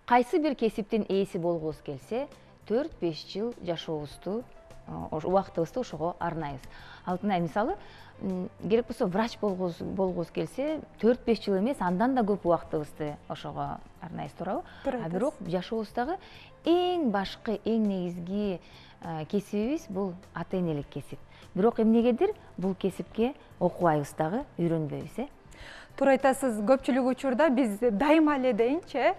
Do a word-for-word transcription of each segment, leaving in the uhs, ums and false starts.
кайсы бир кесиптин ээси болгубуз келсе, төрт беш жыл жашообузду, убактыбызды ошого арнайбыз. Алтынай, мисалы, керек болсо врач болгубуз келсе, төрт беш жыл эмес, андан да көп убактыбызды ошого арнайбыз, туурабы? А бирок жашообуздагы эң башкы, эң негизги кесибибиз бул ата-энелик кесип. Бирок эмнегедир бул кесипке окубайбыз дагы, үйрөнбөйбүз, э? Туура айтасыз, көпчүлүк учурда биз дайыма эле дейинчи,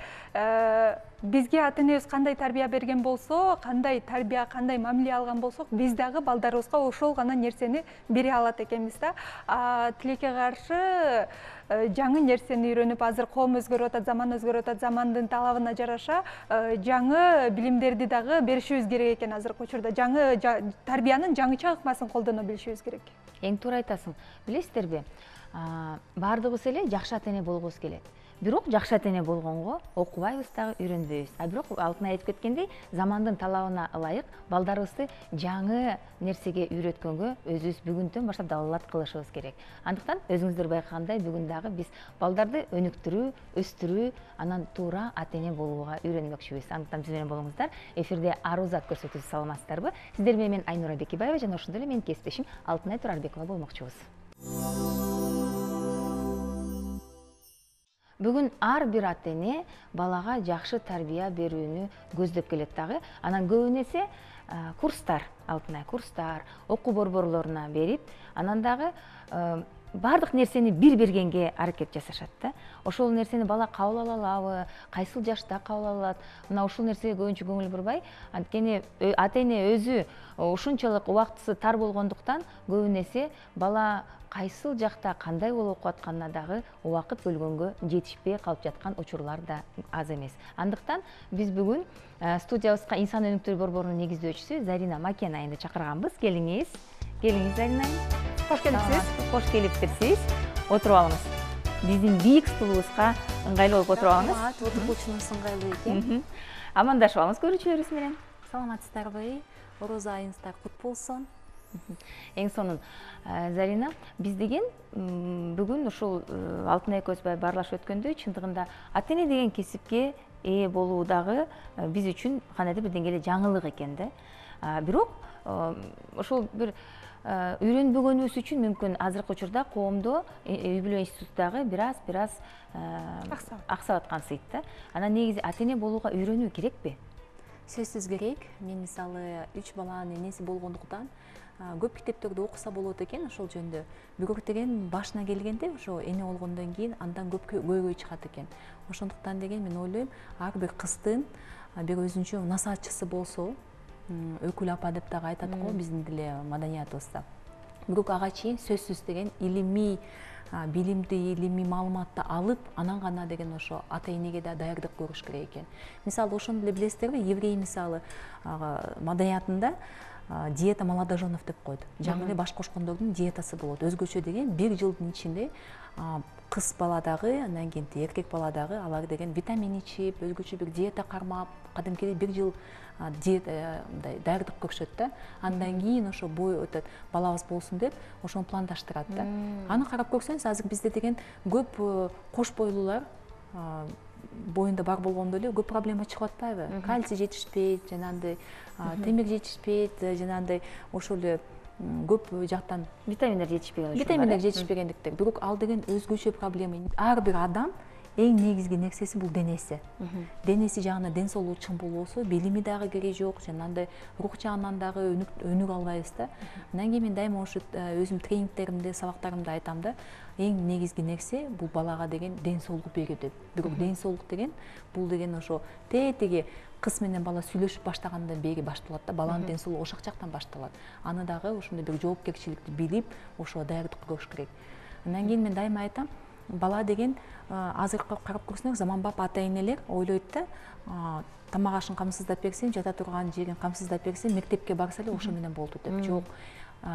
бизге ата-энебиз кандай тарбия берген болсо, кандай тарбия, кандай мамиле алган болсок, биз дагы балдарыбызга ошол гана нерсени бере алат экенбиз да. Тилекке каршы жаңы нерсени үйрөнүп, азыр коом өзгөрүп атат, заман өзгөрүп атат, замандын талабына жараша жаңы билимдерди дагы беришибиз керек экен азыркы учурда. Жаңы тарбиянын жаңыча ыкмасын колдоно билишибиз керек. Эң туура айтасың. Билесиздерби? Бардыгыбыз эле жакшы ата-эне болгубуз келет. Бирок жакшы ата-эне болгонго окубайбыз дагы, үйрөнбөйбүз. А бирок Алтынай айтып кеткендей, замандын талабына ылайык балдарыбызды жаңы нерсеге үйрөткөнгө өзүбүз бүгүндөн баштап далалат кылышыбыз керек. Андыктан өзүңүздөр байкагандай бүгүн дагы биз балдарды өнүктүрүү, өстүрүү, анан туура ата-эне болууга үйрөнмөкчүбүз. Андыктан биз менен болуңуздар. Эфирде Арузат көрсөтүүсү, саламатсыздарбы? Сиздер менен мен Айнура Бекибаева жана ошондой эле менин кесиптешим Алтынай Турарбекова болмокчубуз. Бүгүн ар бир ата-эне балага жакшы тарбия берүүнү көздөп келет дагы. Анан көбүнесе курстар, Алтынай, курстар, окуу борборлоруна берип, анан дагы бардык нерсени бир бергенге аракет жасашат да. Ошол нерсени бала кабыл ала алабы, кайсыл жашта кабыл алат? Мына ушул нерсеге көбүнчө көңүл бурбай, анткени ата-эне өзү ушунчалык убактысы тар болгондуктан көбүнесе бала кайсыл жакта кандай болуп окуп атканына дагы убакыт бөлгөнгө жетишпей калып жаткан учурлар да аз эмес. Андыктан биз бүгүн студиябызга инсан өнүктүрүү борборунун негиздөөчүсү Зарина Макенайны чакырганбыз. Келиңиз. Келиңиз, Зарина. Кош келипсиз. Кош келиптирсиз. Отуруп алыңыз. Биздин бийик стулубузга ыңгайлуу болуп отуруп алыңыз. Отургучунуз ыңгайлуу экен. Амандашып алыңыз көрүүчүлөрүбүз менен. Саламатсыздарбы? Орозо айыңыздар кут болсун. Эң сонун, Зарина, биз деген бүгүн ушул Алтынай экөөбүз баарлашып өткөндөй, чындыгында ата-эне деген кесипке ээ болуу дагы биз үчүн кандайдыр бир деңгээлде жаңылык экен да. Бирок ошол бир үйрөнбөгөнүбүз үчүн мүмкүн азыркы учурда коомдо, үй бүлө институтундагы бир аз бир аз аксап аткан сыйт да. Анан негизи ата-эне болууга үйрөнүү керекпи? Сөзсүз керек. Мен мисалы үч баланын энеси болгондуктан көп китептерди окуса болот экен ошол жөнүндө. Бирок деген башына келгенде ошо эне болгондон кийин андан көп көйгөй чыгат экен. Ошондуктан деген мен ойлойм, ар бир кыздын бир өзүнчө насаатчысы болсо, өкүл апа деп дагы айтат го биздин деле маданиятыбызда. Бирок ага чейин сөзсүз деген илимий билимди, илимий маалыматты алып, анан гана деген ошо ата-энеге да даярдык көрүш керек экен. Мисалы ошондо эле билесиздерби, еврей мисалы маданиятында диета молодоженов деп койду. Жаңы эле баш кошкондордун диетасы болот. Өзгөчө деген бир жылдын ичинде кыз бала дагы, андан кийин эркек бала дагы алар деген витамин ичип, өзгөчө бир диета кармап, кадимкидей бир жыл диета мындай даярдык көрүшөт да. Андан кийин ошо бой өтөт, балабыз болсун деп, ошону пландаштырат да. Аны карап көрсөңүз, азыр бизде деген көп кош бойлуулар боюнда бар болгондо эле көп проблема чыгып атпайбы? Кальций жетишпейт, жанагындай темир жетишпейт, жанагындай ошол эле көп жактан витаминдер жетишпеген. Витаминдер жетишпегендиктен. Бирок ал деген өзгөчө проблема. Ар бир адам эң негизги нерсеси бул денеси. Денеси жагына ден соолугу чың болбосо, билими дагы кереги жок, жанагындай рух жагынан дагы өнүк албайбыз да. Андан кийин мен дайыма ошо өзүм тренингтеримде, сабактарымда айтам да, эң негизги нерсе бул балага деген ден соолук берүү деп. Бирок ден соолук деген бул деген ошо тетиги кыз менен бала сүйлөшүп баштагандан бери башталат да, баланын ден соолугу ошол жактан башталат. Аны дагы ошондой бир жоопкерчиликти билип, ошого даярдык көрүш керек. Андан кийин мен дайыма айтам, бала деген азыркы карап көрсөңөр, заманбап ата-энелер ойлойт да, тамак ашын камсыздап берсем, жата турган жерин камсыздап берсем, мектепке барса эле ошо менен болду деп. Жок.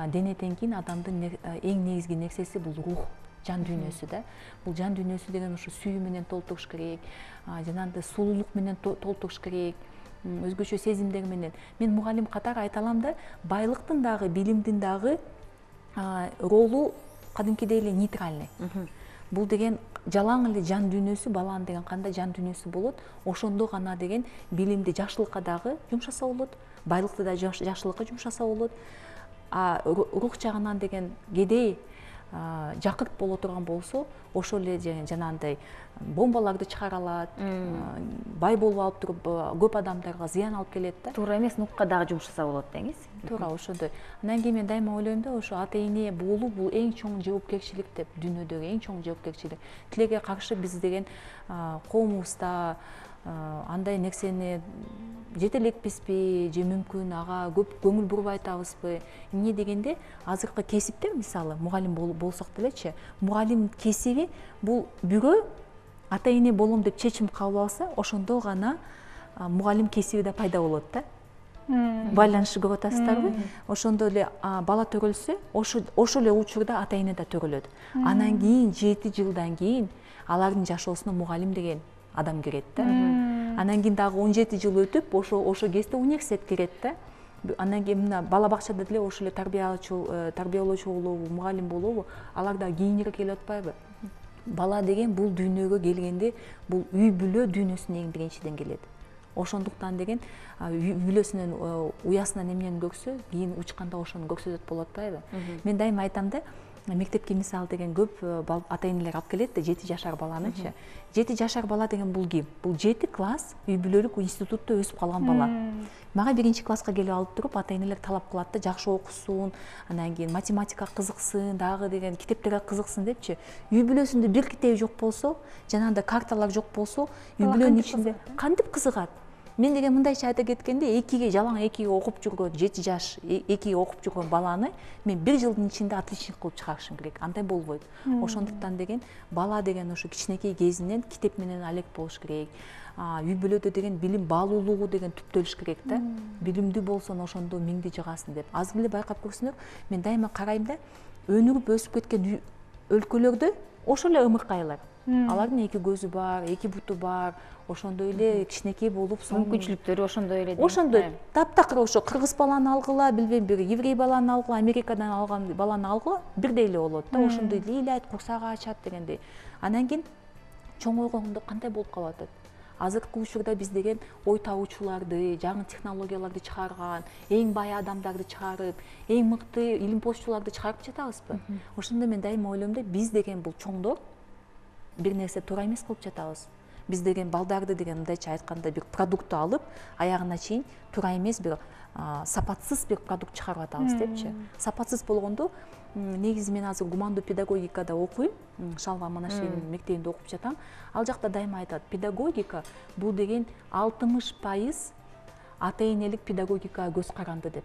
Денеден кийин адамдын эң негизги нерсеси бул рух, жан дүйнөсү да. Бул жан дүйнөсү деген ошо сүйүү менен толтуруш керек, жанагындай сулуулук менен толтуруш керек, өзгөчө сезимдер менен. Мен мугалим катары айта алам да, байлыктын дагы, билимдин дагы ролу кадимкидей эле нейтральный. Бул деген жалаң эле жан дүйнөсү, баланын деген кандай жан дүйнөсү болот, ошондо гана деген билимди жакшылыкка дагы жумшаса болот, байлыкты да жакшылыкка жумшаса болот. А рух жагынан деген кедей жакырт боло турган болсо, ошол эле жанагындай бомбаларды чыгара алат, бай болуп алып туруп көп адамдарга зыян алып келет да. Туура эмес нукка дагы жумшаса болот деңиз. Туура ошондой. Андан кийин мен дайыма ойлойм да, ошо ата эне болуу бул эң чоң жоопкерчилик деп, дүйнөдөгү эң чоң жоопкерчилик. Тилекке каршы биз деген коомубузда андай нерсени жетелекпизби же мүмкүн ага көп көңүл бурбай атабызбы? Эмне дегенде азыркы кесиптер, мисалы мугалим болсок делечи, мугалим кесиби бул бирөө ата эне болом деп чечим кабыл алса, ошондо гана мугалим кесиби да пайда болот да. Байланышты көрүп атасыздарбы? Ошондо эле бала төрөлсө, ошол эле учурда ата эне да төрөлөт. Анан кийин жети жылдан кийин алардын жашоосуна мугалим деген адам кирет да. Анан кийин дагы он жети жыл өтүп, ошо ошо кезде университет кирет да. Андан кийин мына бала бакчада деле ошол эле тарбиялоочу, тарбиялоочу болобу, мугалим болобу, алар да кийинирээк келип атпайбы? Бала деген бул дүйнөгө келгенде бул үй бүлө дүйнөсүнө эң биринчиден келет. Ошондуктан деген үй бүлөсүнөн, уясынан эмнени көрсө, кийин учканда ошону көрсөтөт болуп атпайбы? Мен дайыма айтам да, мектепке мисалы деген көп ата энелер алып келет да, жети жашар баланычы. жети жашар бала деген бул ким? Бул жети класс үй бүлөлүк институтта өсүп калган бала. Мага биринчи класска келип алып туруп ата энелер талап кылат да, жакшы окусун, андан кийин математикага кызыксын, дагы деген китептерге кызыксын депчи. Үй бүлөсүндө бир китеби жок болсо, жанагындай карталар жок болсо, үй бүлөнүн ичинде кантип кызыгат? Мен деген мындайча айта кеткенде, экиге жалаң экиге окуп жүргөн, жети жаш экиге окуп жүргөн баланы мен бир жылдын ичинде отличник кылып чыгарышым керек. Андай болбойт. Ошондуктан деген бала деген ошо кичинекей кезинен китеп менен алек болуш керек. Үй бүлөдө деген билим баалуулугу деген түптөлүш керек да. Билимдүү болсоң ошондо миңди жыгасың деп. Азыр эле байкап көрсөңөр, мен дайыма карайм да, өнүгүп өсүп кеткен өлкөлөрдө ошол эле ымыркайлар. Алардын эки көзү бар, эки буту бар, ошондой эле кичинекей болуп, мүмкүнчүлүктөрү ошондой эле. Ошондой таптакыр ошо кыргыз баланы алгыла, билбейм, бир еврей баланы алгыла, Америкадан алган баланы алгыла, бирдей эле болот да. Ошондой ыйлайт, курсагы ачат дегендей. Андан кийин чоңойгондо кандай болуп калып атат? Азыркы учурда биз деген ой табуучуларды, жаңы технологияларды чыгарган, эң бай адамдарды чыгарып, эң мыкты илимпоздчуларды чыгарып жатабызбы? Ошондо мен дайыма ойлойм да, биз деген бул чоңдор бир нерсе туура эмес кылып жатабыз. Биз деген балдарды деген мындайча айтканда бир продуктты алып, аягына чейин туура эмес бир сапатсыз бир продукт чыгарып атабыз депчи. Сапатсыз болгондо, негизи мен азыр гумандуу педагогикада окуйм, Шалва Манашевинин мектебинде окуп жатам. Ал жакта дайыма айтат, педагогика бул деген алтымыш пайыз ата энелик педагогикага көз каранды деп.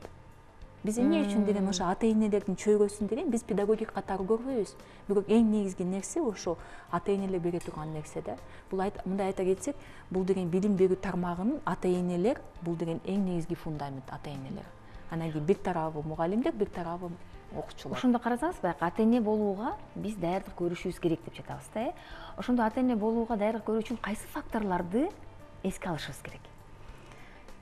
Биз эмне үчүн деген ошо ата энелердин чөйрөсүн деген биз педагогика катары көрбөйбүз. Бирок эң негизги нерсе ошо ата энелер бере турган нерсе да. Бул мындай айта кетсек, бул деген билим берүү тармагынын ата энелер, бул деген эң негизги фундамент ата энелер. Анан кийин бир тарабы мугалимдер, бир тарабы окуучулар. Ошондо карасаңыз, байкы ата эне болууга биз даярдык көрүшүбүз керек деп жатабыз да, э? Ошондо ата эне болууга даярдык көрүү үчүн кайсы факторлорду эске алышыбыз керек?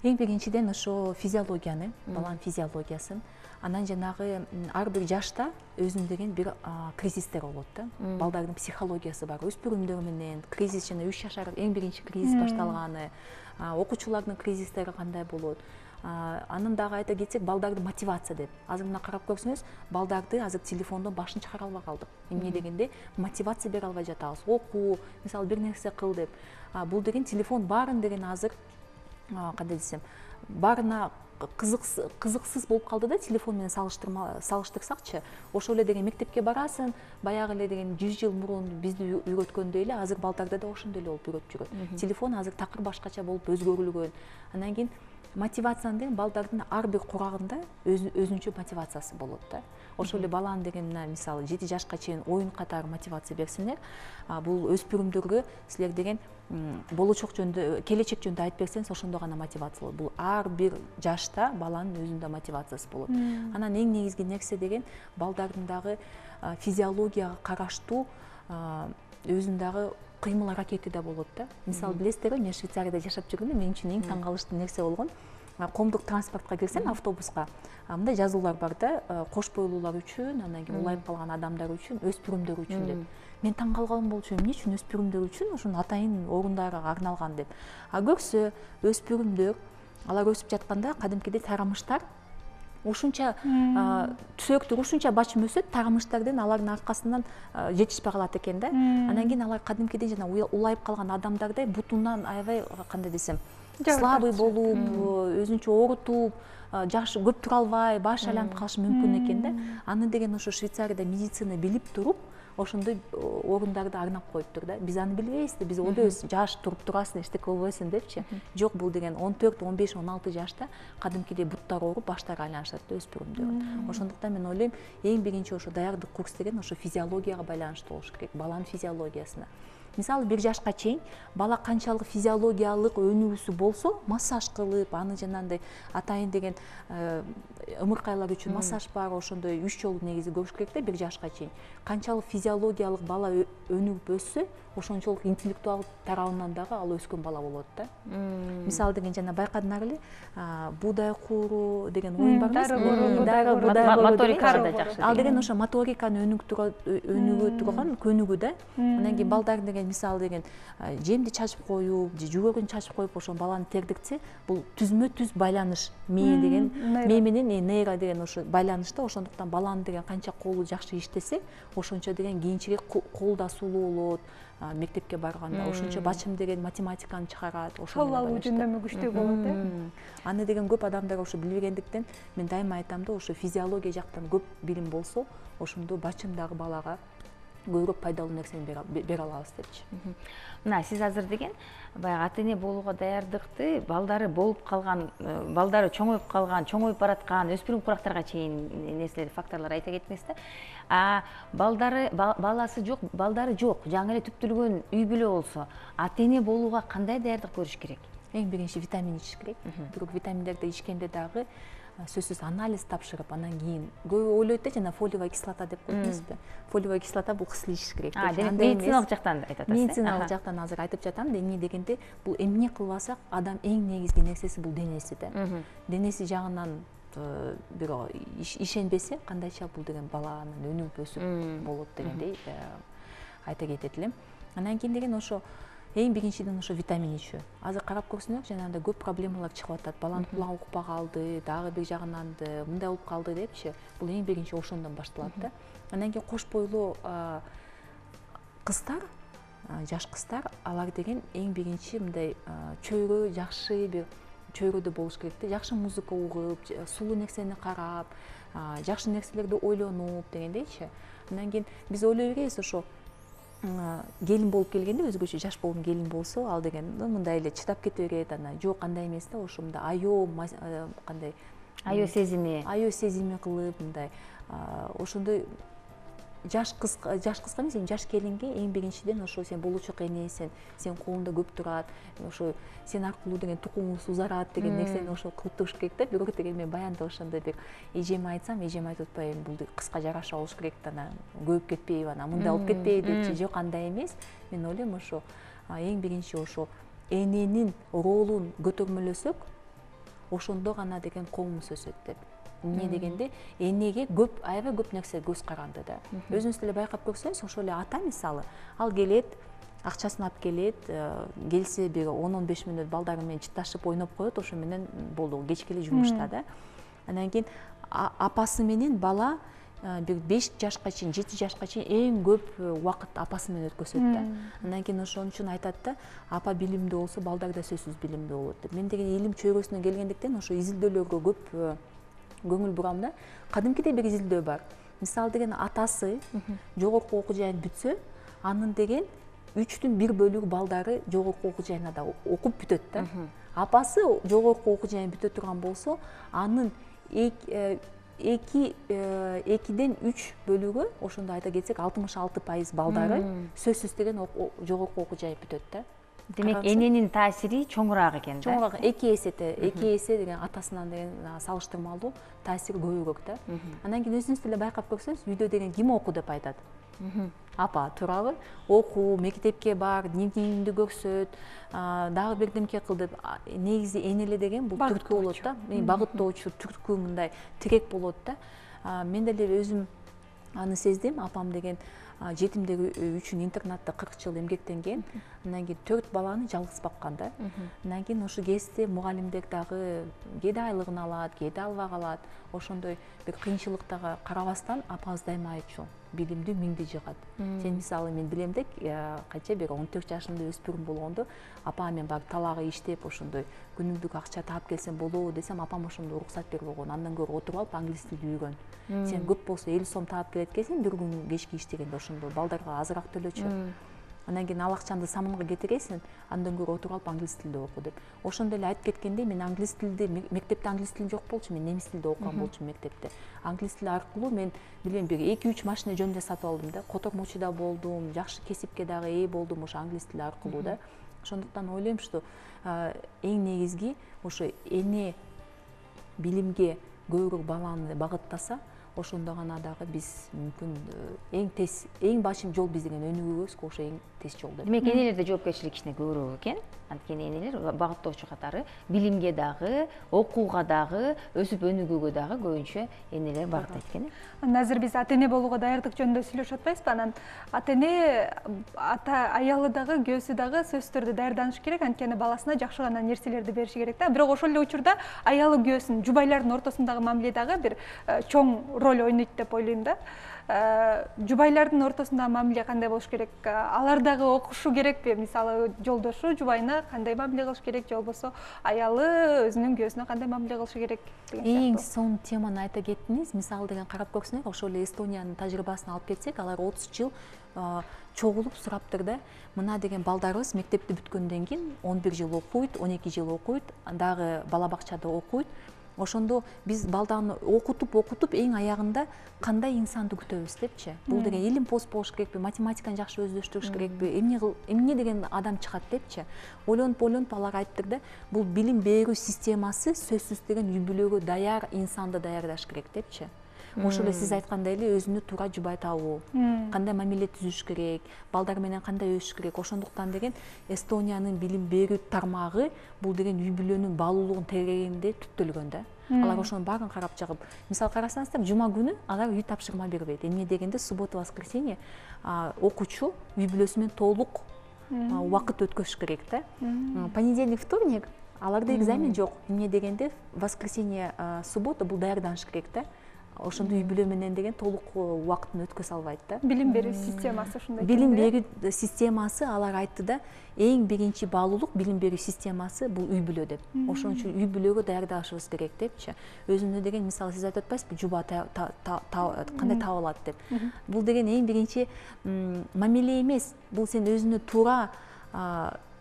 Эң биринчиден ошо физиологияны, баланын физиологиясын, анан жанагы ар бир жашта өзүнүн деген бир кризистер болот да. Балдардын психологиясы бар, өспүрүмдөр менен кризис, жана үч жашар эң биринчи кризис башталганы, окуучулардын кризистери кандай болот. Анын дагы айта кетсек, балдардын мотивация деп. Азыр мына карап көрсөңүз, балдарды азыр телефондон башын чыгара албай калдык. Эмне дегенде мотивация бере албай жатабыз. Окуу, мисалы бир нерсе кыл деп. Бул деген телефон баарын деген азыр кандай десем, баарына кызыксыз болуп калды да, телефон менен салыштырсакчы. Ошол эле деген мектепке барасың, баягы эле деген жүз жыл мурун бизди үйрөткөндөй эле азыр балдарда да ошондой эле болуп үйрөтүп жүрөт. Телефон азыр такыр башкача болуп өзгөрүлгөн. Андан кийин мотивацияны деген балдардын ар бир курагында өзүнчө мотивациясы болот да. Ошол эле баланы деген мына мисалы жети жашка чейин оюн катары мотивация берсеңер, бул өспүрүмдөргө силер деген болочок жөнүндө, келечек жөнүндө айтып берсеңиз, ошондо гана мотивация болот. Бул ар бир жашта баланын өзүндө мотивациясы болот. Анан эң негизги нерсе деген балдардын дагы физиологияга караштуу өзүнүн дагы кыймыл аракети да болот да. Мисалы билесиздерби, мен Швейцарияда жашап жүргөндө мен үчүн эң таң калыштуу нерсе болгон, коомдук транспортко кирсең, автобуска мындай жазуулар бар да, кош бойлуулар үчүн, анан кийин улайып калган адамдар үчүн, өспүрүмдөр үчүн деп. Мен таң калган болчумун, эмне үчүн өспүрүмдөр үчүн ошону атайын орундары арналган деп. А көрсө, өспүрүмдөр алар өсүп жатканда кадимкидей тарамыштар ушунча түсөктөр ушунча бачым өсөт, тарамыштардын алардын аркасынан жетишпей калат экен да. Анан кийин алар кадимкидей жана улайып калган адамдардай бутунан аябай кандай десем, слабый болуп, өзүнчө оорутуп, жакшы көп тура албай, баш айланып калышы мүмкүн экен да. Аны деген ошо Швейцарияда медицина билип туруп, ошондой орундарды арнап коюптур да. Биз аны билбейбиз да, биз ойлойбуз, жаш туруп турасың, эчтеке болбойсуң депчи. Жок, бул деген он төрт, он беш, он алты жашта кадимкидей буттары ооруп, баштары айланышат да өспүрүмдөр. Ошондуктан мен ойлойм, эң биринчи ошо даярдык курс деген ошо физиологияга байланыштуу болуш керек, баланын физиологиясына. Мисалы бир жашка чейин бала канчалык физиологиялык өнүгүүсү болсо, массаж кылып, аны жанагындай атайын деген ымыркайлар үчүн массаж бар, ошондой үч жолу негизи көрүш керек да бир жашка чейин. Канчалык физиологиялык бала өнүгүп өссө, ошончолук интеллектуал тарабынан дагы ал өскөн бала болот да. Мисалы деген жана байкадыңар эле, буудай кууру деген оюн бар эмеспи? Моторикада да жакшы. Ал деген ошо моториканы өнүгө турган көнүгүү да. Анан кийин балдар деген мисалы деген жемди чачып коюп, же жүгөрүн чачып коюп ошо баланы тердиксе, бул түзмө түз байланыш, мээ деген, мээ менен нейро деген ошо байланышта, ошондуктан баланы деген канча колу жакшы иштесе, ошончо деген кийинчерээк кол да сулуу болот, мектепке барганда, ошончо бачым деген математиканы чыгарат, кол алуу жөндөмү күчтүү болот э. Аны деген көп адамдар ошо билбегендиктен мен дайыма айтам да, ошо физиология жактан көп билим болсо, ошондо бачымдагы балага көбүрөөк пайдалуу нерсени бере алабыз депчи. Мына сиз азыр деген баягы ата эне болууга даярдыкты балдары болуп калган, балдары чоңоюп калган, чоңоюп бараткан өспүрүм курактарга чейин нерселер, факторлор айта кеттиңиз да. А балдары баласы жок, балдары жок, жаңы эле түптөлгөн үй бүлө болсо, ата эне болууга кандай даярдык көрүш керек? Эң биринчи витамин ичиш керек. Бирок витаминдерди ичкенде дагы сөзсүз анализ тапшырып, анан кийин көбү ойлойт да, жана фолиевая кислота деп коет эмеспи? Фолиевая кислота бул кысыл ичиш керек. А, демек медициналык жактан айтып атасыз. Медициналык жактан азыр айтып жатам да, эмне дегенде, бул эмне кылбасак, адам эң негизги нерсеси бул денеси да. Денеси жагынан бир ишенбесе, кандайча бул деген баланын өнүгүп өсүп болот дегендей айта кетет элем. Анан кийин деген ошо эң биринчиден ошо витамин ичүү. Азыр карап көрсөңөр, жанагындай көп проблемалар чыгып атат. Баланын кулагы укпай калды, дагы бир жагынан мындай болуп калды депчи. Бул эң биринчи ошондон башталат да. Анан кийин кош бойлуу кыздар, жаш кыздар, алар деген эң биринчи мындай чөйрө жакшы бир чөйрөдө болуш керек да. Жакшы музыка угуп, сулуу нерсени карап, жакшы нерселерди ойлонуп дегендейчи. Анан кийин биз ойлой беребиз, ошо келин болуп келгенде, өзгөчө жаш болгон келин болсо, ал деген мындай эле чыдап кете берет, анан жок андай эмес да, ошо мындай аё кандай аё сезими аё сезими кылып мындай ошондой жаш кыз жаш кызга эмес, жаш келинге эң биринчиден ошо сен болочок энесиң, сен колуңда көп турат, ошо сен аркылуу деген тукумуңуз узарат деген нерсени ошо кылып туруш керек да. Бирок деген мен баянда ошондой бир эжеме айтсам, эжем айтып атпайбы, бул кызга жараша болуш керек да, анан көбүп кетпейби, анан мындай болуп кетпейби депчи. Жок, андай эмес. Мен ойлойм, ошо эң биринчи ошо эненин ролун көтөрмөлөсөк, ошондо гана деген коомубуз өсөт деп. Эмне дегенде, энеге көп, аябай көп нерсе көз каранды да. Өзүңүз деле байкап көрсөңүз, ошо эле ата мисалы, ал келет, акчасын алып келет, келсе бир он он беш мүнөт балдары менен чытташып ойноп коет, ошо менен болду, кечке эле жумушта да. Анан кийин апасы менен бала бир беш жашка чейин, жети жашка чейин эң көп убакыт апасы менен өткөзөт да. Андан кийин ошон үчүн айтат да, апа билимдүү болсо, балдар да сөзсүз билимдүү болот деп. Мен деген илим чөйрөсүнөн келгендиктен ошо изилдөөлөргө көп көңүл бурам да. Кадимкидей бир изилдөө бар. Мисалы деген атасы жогорку окуу жайын бүтсө, анын деген үчтүн бир бөлүгү балдары жогорку окуу жайына окуп бүтөт да. Апасы жогорку окуу жайын бүтө турган болсо, анын эки экиден үч бөлүгү, ошондо айта кетсек, алтымыш алты пайыз балдары сөзсүз деген жогорку окуу жайын бүтөт да. Демек, эненин таасири чоңураак экен да. Чоңураак, эки эсе, эки эсе деген атасынан деген салыштырмалуу таасири көбүрөөк да. Андан кийин өзүңүз деле байкап көрсөңүз, үйдө деген ким окуу деп айтат. апа туурабы, окуу, мектепке бар, дневнигиңди көрсөт, дагы бирдемке кыл деп негизи энеле деген бул түрткү болот да, багыттоочу түрткү мындай тирек болот да. Мен деле өзүм аны сездим. Апам деген жетимдер үчүн интернатта кырк жыл эмгектенген. Андан кийин төрт баланы жалгыз баккан да. Андан кийин ошо кезде мугалимдер дагы кээде айлыгын алат, кээде албай калат. Ошондой бир кыйынчылыктарга карабастан апабыз дайыма айтчу: билимдүү миңди жыгат. Сен мисалы мен билем деп, канча бир он төрт жашымда өспүрүм болгондо апам мен барып талагы иштеп ошондой күнүмдүк акча таап келсем болобу десем, апам ошондо уруксат берип койгон. Андан көрө отуруп алып англис тилди үйрөн. Сен көп болсо элүү сом таап келет экенсиң бир күн кечки иштегенде, ошондо балдарга азыраак төлөчү. Андан кийин ал акчаңды самынга кетиресиң, андан көрө отуруп алып англис тилде оку деп. Ошондо эле айтып кеткендей, мен англис тилде мектепте англис тилим жок болчу, мен немис тилде окуган болчумун мектепте. Англис тили аркылуу мен билем бир эки үч машина жөндөп сатып алдым да, котормочу да болдум, жакшы кесипке дагы ээ болдум ошо англис тили аркылуу да. Ошондуктан ойлойм, что эң негизги ошо эне билимге көбүрөөк баланы багыттаса, ошондо гана дагы биз мүмкүн эң тез, эң башым жол биз деген өнүгүүбүзгө ошо эң тез жол деп. Демек энелерде жоопкерчилик кичине көбүрөөк экен. Анткени энелер багыттоочу катары билимге дагы, окууга дагы, өсүп өнүгүүгө дагы көбүнчө энелер багыттайт экен. Анан азыр биз ата эне болууга даярдык жөнүндө сүйлөшүп атпайбызбы? Анан ата эне, ата аялы дагы, күйөөсү дагы сөзсүз түрдө даярданышы керек, анткени баласына жакшы гана нерселерди бериши керек да. Бирок ошол эле учурда аялы күйөөсүнүн, жубайлардын ортосундагы мамиле дагы бир чоң роль ойнойт деп ойлойм да. Жубайлардын ортосундагы мамиле кандай болуш керек? Алар дагы окушу керекпи? Мисалы, жолдошу жубайына кандай мамиле кылыш керек, же болбосо аялы өзүнүн күйөөсүнө кандай мамиле кылышы керек деген сыяктуу. Эң сонун теманы айта кеттиңиз. Мисалы деген карап көрсөңөр, ошол эле Эстониянын тажрыйбасын алып кетсек, алар отуз жыл чогулуп сураптыр да. Мына деген балдарыбыз мектепти бүткөндөн кийин он бир жыл окуйт, он эки жыл окуйт, дагы бала бакчада окуйт. Ошондо биз балданы окутуп окутуп эң аягында кандай инсанды күтөбүз депчи. Бул деген илим пост болуш керекпи, математиканы жакшы өздөштүрүш керекпи, эмне эмне деген адам чыгат депчи. Ойлонуп ойлонуп алар айттыр да, бул билим берүү системасы сөзсүз деген үй бүлөгө даяр инсанды даярдаш керек депчи. Ошол эле сиз айткандай эле өзүнө туура жубай табуу, кандай мамиле түзүш керек, балдар менен кандай өсүш керек. Ошондуктан деген Эстониянын билим берүү тармагы бул деген үй бүлөнүн баалуулугун тегерегинде түптөлгөн да. Алар ошонун баарын карап чыгып, мисалы карасаңыздар, жума күнү алар үй тапшырма бербейт. Эмне дегенде суббота, воскресенье окуучу үй бүлөсү менен толук убакыт өткөрүш керек да. Понедельник, вторник аларда экзамен жок. Эмне дегенде воскресенье, суббота бул даярданыш керек да. Ошондо үй бүлө менен деген толук убакытын өткөзө албайт да. Билим берүү системасы ушундай. Билим берүү системасы, алар айтты да, эң биринчи баалуулук билим берүү системасы бул үй бүлө деп. Ошон үчүн үй бүлөгө даярдашыбыз керек депчи. Өзүнө деген, мисалы сиз айтып атпайсызбы, жуба кандай таап алат деп. Бул деген эң биринчи мамиле эмес. Бул сен өзүнө туура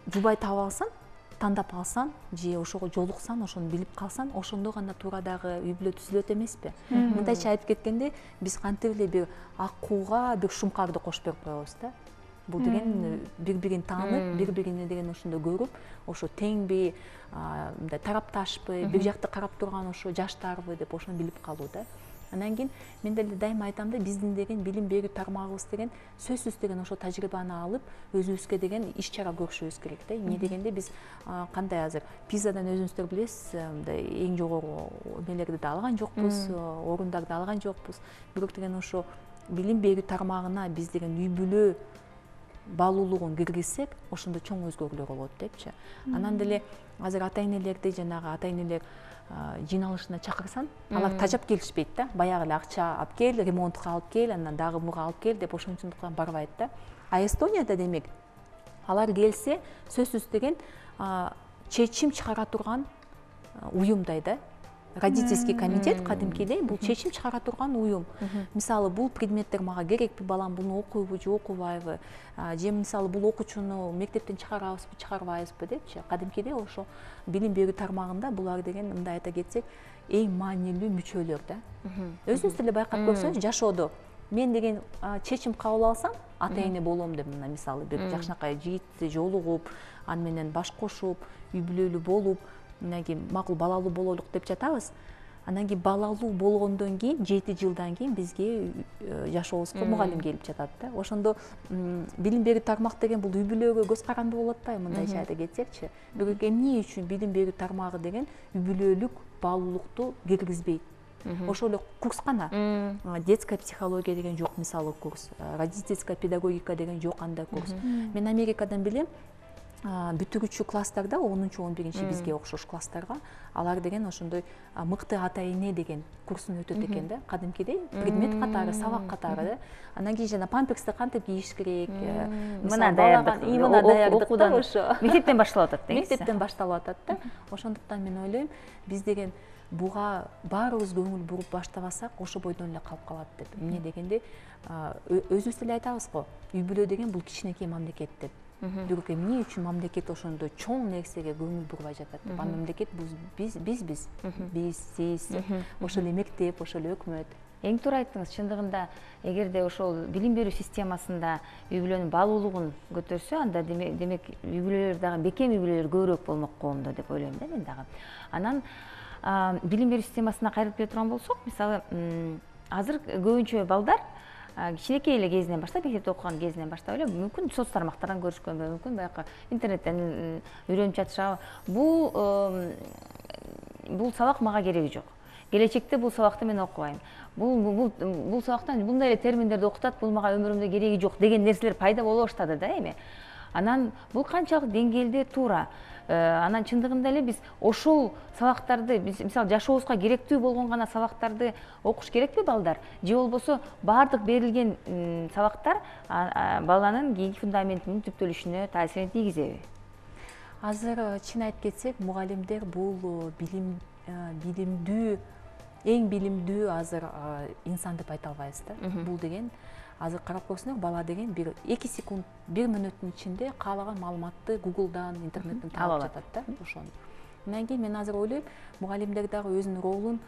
жубай таап алсаң, тандап алсаң, же ошого жолуксаң, ошону билип калсаң, ошондо гана туура дагы үй бүлө түзүлөт эмеспи? Мындайча айтып кеткенде, биз кантип эле бир акууга бир шумкарды кошуп берип коебуз да. Бул деген бири-бирин таанып, бири-бирине деген ошондо көрүп, ошо теңби, мындай тарапташпы, бир жакты карап турган ошо жаштарбы деп ошону билип калуу да. Андан кийин мен деле дайыма айтам да, биздин деген билим берүү тармагыбыз деген сөзсүз деген ошо тажрыйбаны алып, өзүбүзгө деген иш чара көрүшүбүз керек да. Эмне дегенде биз кандай азыр пизадан өзүңүздөр билесиз, мындай эң жогору эмелерди да алган жокпуз, орундарды алган жокпуз. Бирок деген ошо билим берүү тармагына биз деген үй бүлө баалуулугун киргизсек, ошондо чоң өзгөрүүлөр болот депчи. Анан деле азыр ата энелерди, жанагы ата энелер жыйналышына чакырсаң, алар тажап келишпейт да. Баягы эле акча алып кел, ремонтка алып кел, андан дагы буга алып кел деп ошончондуктан барбайт да. А Эстонияда демек алар келсе, сөзсүз деген чечим чыгара турган уюмдай да. Родительский комитет кадимкидей бул чечим чыгара турган уюм. Мисалы, бул предметтер мага керекпи, балам буну окуйбу же окубайбы, же мисалы бул окуучуну мектептен чыгарабызбы, чыгарбайбызбы депчи. Кадимкидей ошо билим берүү тармагында булар деген, мындай айта кетсек, эң маанилүү мүчөлөр да. Өзүңүз деле байкап көрсөңүз, жашоодо мен деген чечим кабыл алсам, ата эне болом деп, мына мисалы бир жакшынакай жигитти жолугуп, аны менен баш кошуп, үй бүлөлүү болуп, мындан кийин макул балалуу бололук деп жатабыз. Анан кийин балалуу болгондон кийин жети жылдан кийин бизге жашообузга мугалим келип жатат да. Ошондо билим берүү тармак деген бул үй бүлөгө көз каранды болуп атпайбы, мындайча айта кетсекчи. Бирок эмне үчүн билим берүү тармагы деген үй бүлөлүк баалуулукту киргизбейт? Ошол эле курс гана. Детская психология деген жок, мисалы курс. Родительская педагогика деген жок андай курс. Мен Америкадан билем, бүтүрүүчү класстарда, онунчу он биринчи бизге окшош класстарга алар деген ошондой мыкты ата эне деген курсун өтөт экен да, кадимкидей предмет катары, сабак катары да. Анан кийин жана памперсти кантип кийиш керек, мына даярдык, мына даярдык окуудан ошо мектептен башталып атат да. Мектептен башталып атат да. Ошондуктан мен ойлойм, биз деген буга баарыбыз көңүл буруп баштабасак, ошо бойдон эле калып калат деп. Эмне дегенде, өзүбүз деле айтабыз го, үй бүлө деген бул кичинекей мамлекет деп. Бирок эмне үчүн мамлекет ошондой чоң нерсеге көңүл бурбай жатат деп. А мамлекет биз биз биз биз сиз, ошол эле мектеп, ошол эле өкмөт. Эң туура айттыңыз. Чындыгында эгерде ошол билим берүү системасында үй бүлөнүн баалуулугун көтөрсө, анда демек үй бүлөлөр дагы бекем үй бүлөлөр көбүрөөк болмок коомдо деп ойлойм да мен дагы. Анан билим берүү системасына кайрылып келе турган болсок, мисалы азыр көбүнчө балдар кичинекей эле кезинен баштап, мектепте окуган кезинен баштап эле мүмкүн соц тармактардан көрүшкөнбү, мүмкүн баягы интернеттен үйрөнүп жатышабы. Бул бул сабак мага кереги жок. Келечекте бул сабакты мен окубайм. Бул бул бул сабактан мындай эле терминдерди окутат, бул мага өмүрүмдө кереги жок деген нерселер пайда боло баштады да эми. Анан бул канчалык деңгээлде туура? Анан чындыгында эле биз ошол сабактарды, мисалы жашообузга керектүү болгон гана сабактарды окуш керекпи балдар? Же болбосо баардык берилген сабактар баланын кийинки фундаментинин түптөлүшүнө таасирин тийгизеби? Азыр чын айтып кетсек, мугалимдер бул билим билимдүү, эң билимдүү азыр инсан деп айта албайбыз да. Бул деген азыр карап көрсөңөр, бала деген бир эки секунд, бир мүнөттүн ичинде каалаган маалыматты Google'дан, интернеттен таап жатат да, ошону. Андан кийин мен азыр ойлойм, мугалимдер дагы өзүнүн ролун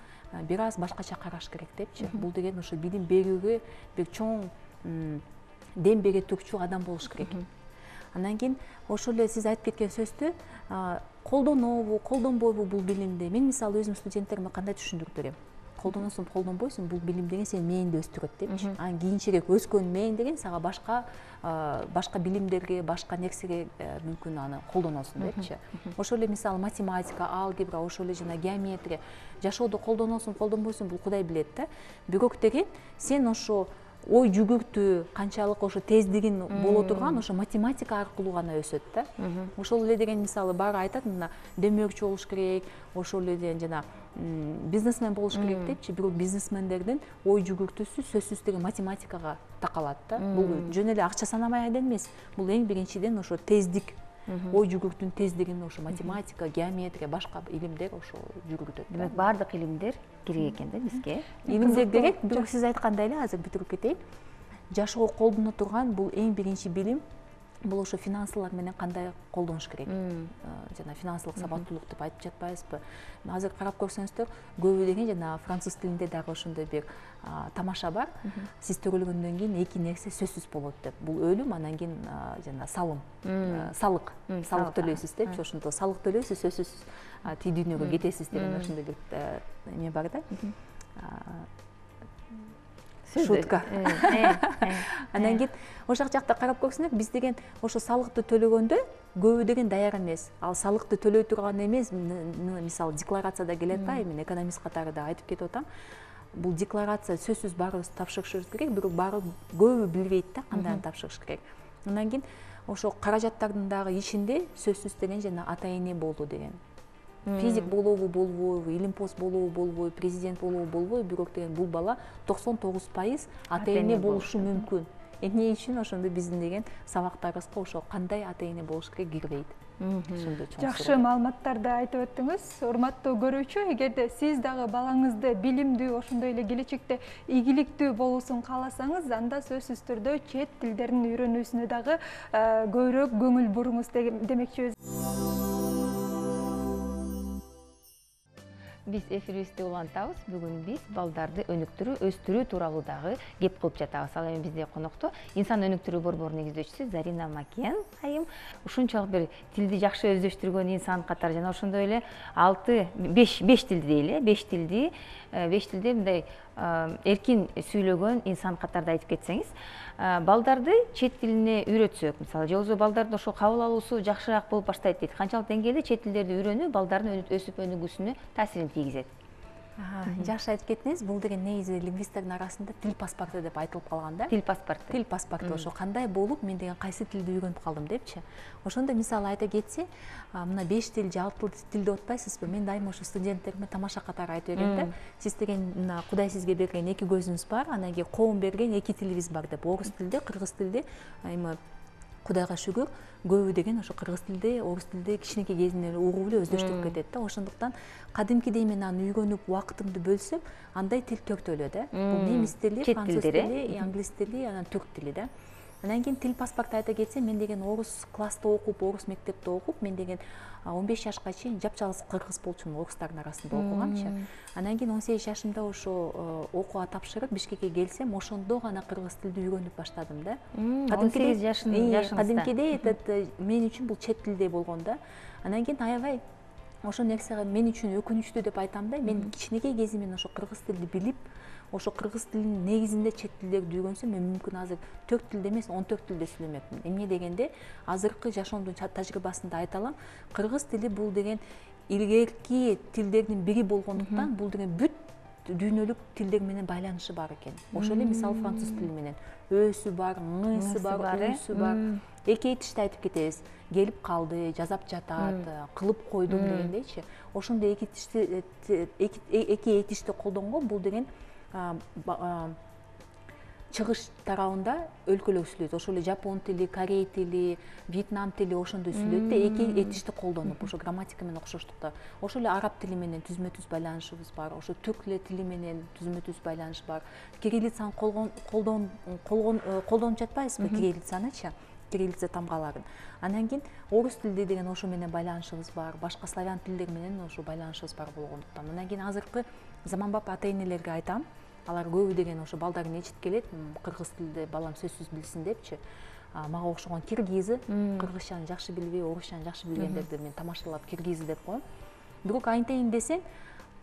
бир аз башкача караш керек депчи. Бул деген ошо билим берүүгө бир чоң дем бере турчу адам болуш керек. Андан кийин ошол эле сиз айтып кеткен сөздү колдонобу, колдонбойбу бул билимди. Мен мисалы өзүм студенттериме кандай түшүндүрүп берем? Колдоносуң, колдонбойсуң, бул билим деген сени мээңди өстүрөт депчи. Анан кийинчерээк өскөн мээң деген сага башка башка билимдерге, башка нерсеге мүмкүн аны колдоносуң депчи. Ошол эле мисалы математика, алгебра, ошол эле жана геометрия жашоодо колдоносуң, колдонбойсуң, бул Кудай билет да. Бирок деген сен ошо ой жүгүртүү канчалык ошо тездигин боло турган ошо математика аркылуу гана өсөт да. Ошол эле деген мисалы баары айтат, мына демөөрчү болуш керек, ошол эле деген жана бизнесмен болуш керек депчи. Бирок бизнесмендердин ой жүгүртүүсү сөзсүз деген математикага такалат да. Бул жөн эле акча санамай эле эмес. Бул эң биринчиден ошо тездик, ой жүгүртүүнүн тездигин ошо математика, геометрия, башка илимдер ошо жүгүртөт. Демек баардык илимдер керек экен да бизге. Илимдер керек, бирок сиз айткандай эле азыр бүтүрүп кетейин. Жашоого колдоно турган бул эң биринчи билим, бул ошо финансылар менен кандай колдонуш керек. Жана финансылык сабаттуулук деп айтып жатпайбызбы? Азыр карап көрсөңүздөр, көбү деген жана француз тилинде дагы ошондой бир тамаша бар. Сиз төрөлгөндөн кийин эки нерсе сөзсүз болот деп. Бул өлүм, анан кийин жана салым, салык, салык төлөйсүз депчи. Ошондо салык төлөйсүз, сөзсүз тиги дүйнөгө кетесиз деген ошондой бир эме бар да. Шутка. Анан кийин ошол жакта карап көрсөңөр, биз деген ошо салыкты төлөгөндө көбү деген даяр эмес. Ал салыкты төлөй турган эмес, мисалы декларацияда келет да, мен экономист катары да айтып кетип атам. Бул декларация сөзсүз баарыбыз тапшырышыбыз керек, бирок баары көбү билбейт да кандай тапшырыш керек. Андан кийин ошо каражаттардын дагы ичинде сөзсүз деген жана ата эне болуу деген. Физик болобу, болбойбу, илимпоз болобу, болбойбу, президент болобу, болбойбу, бирок деген бул бала токсон тогуз пайыз ата эне болушу мүмкүн. Эмне үчүн ошондо биздин деген сабактарыбызга ошо кандай ата эне болуш керек кирбейт. Жакшы маалыматтарды айтып өттүңүз. Урматтуу көрүүчү, эгерде сиз дагы балаңызды билимдүү, ошондой эле келечекте ийгиликтүү болуусун кааласаңыз, анда сөзсүз түрдө чет тилдерин үйрөнүүсүнө дагы көбүрөөк көңүл буруңуз демекчибиз. биз эфирибизди улантабыз. Бүгүн биз балдарды өнүктүрүү, өстүрүү тууралуу дагы кеп кылып жатабыз. Ал эми бизде конокто инсан өнүктүрүү борборунун негиздөөчүсү Зарина Макен айым. Ушунчалык бир тилди жакшы өздөштүргөн инсан катары жана ошондой эле алты беш беш тилди дейли, беш тилди беш тилде мындай эркин сүйлөгөн инсан катарда айтып кетсеңиз, балдарды чет тилине үйрөтсөк, мисалы, же болбосо балдардын ошо кабыл алуусу жакшыраак болуп баштайт дейт. Канчалык деңгээлде чет тилдерди үйрөнүү балдардын өсүп өнүгүүсүнө таасирин тийгизет? Жакшы айтып кеттиңиз. Бул деген негизи лингвисттердин арасында тил паспорту деп айтылып калган да. Тил паспорту. Тил паспорту ошо кандай болуп, мен деген кайсы тилди үйрөнүп калдым депчи. Ошондо мисалы айта кетсе, мына беш тил же алты тил деп атпайсызбы? Мен дайыма ошо студенттериме тамаша катары айтып берем да. Сиз деген мына Кудай сизге берген эки көзүңүз бар, анан кийин коом берген эки тилибиз бар деп. Орус тилде, кыргыз тилде, эми Кудайга шүгүр, көбү деген ошо кыргыз тилде, орус тилде кичинекей кезинен угуп эле өздөштүрүп кетет да. Ошондуктан кадимкидей мен аны үйрөнүп убактымды бөлсөм, андай тил төртөлө да. Бул немис тили, француз тили, англис тили, анан түрк тили да. Анан кийин тил паспорту айта кетсем, мен деген орус класста окуп, орус мектепте окуп, мен деген он беш жашка чейин жапжалгыз кыргыз болчумун, орустардын арасында окугамчы. Анан кийин он сегиз жашымда ошо окууга тапшырып Бишкекке келсем, ошондо гана кыргыз тилди үйрөнүп баштадым да. он сегиз жашыңызда. Кадимкидей этот мен үчүн бул чет тилдей болгон да. Анан кийин аябай ошол нерсе мен үчүн өкүнүчтүү деп айтам да. Мен кичинекей кезимден ошо кыргыз тилди билип, ошо кыргыз тилинин негизинде чет тилдерди үйрөнсөм, мен мүмкүн азыр төрт тилде эмес, он төрт тилде сүйлөмөкмүн. Эмне дегенде, азыркы жашоомдун тажрыйбасында айта алам, кыргыз тили бул деген илгерки тилдердин бири болгондуктан, бул деген бүт дүйнөлүк тилдер менен байланышы бар экен. Ошол эле мисалы француз тили менен өсү бар, ңысы бар, үсү бар. Эки этишти айтып кетебиз. Келип калды, жазап жатат, кылып койдум дегендейчи. Ошондой эки этишти эки этишти колдонгон, бул деген чыгыш тарабында өлкөлөр сүйлөйт. Ошол эле жапон тили, корей тили, вьетнам тили ошондой сүйлөйт да, эки этишти колдонуп, ошо грамматика менен окшоштукта. Ошол эле араб тили менен түзмө-түз байланышыбыз бар. Ошо түрк тили менен түзмө-түз байланыш бар. Кириллицаны колдонуп жатпайбызбы, кириллицанычы? Кириллица тамгаларын. Анан кийин орус тилди деген ошо менен байланышыбыз бар. Башка славян тилдер менен ошо байланышыбыз бар болгондуктан. Анан кийин азыркы заманбап ата-энелерге айтам. Алар көбү деген ошо балдарын ичит келет, кыргыз тилде балам сөзсүз билсин депчи. Мага окшогон киргизы, кыргызчаны жакшы билбей, орусчаны жакшы билгендерди мен тамашалап киргизы деп коем. Бирок айтайын десең,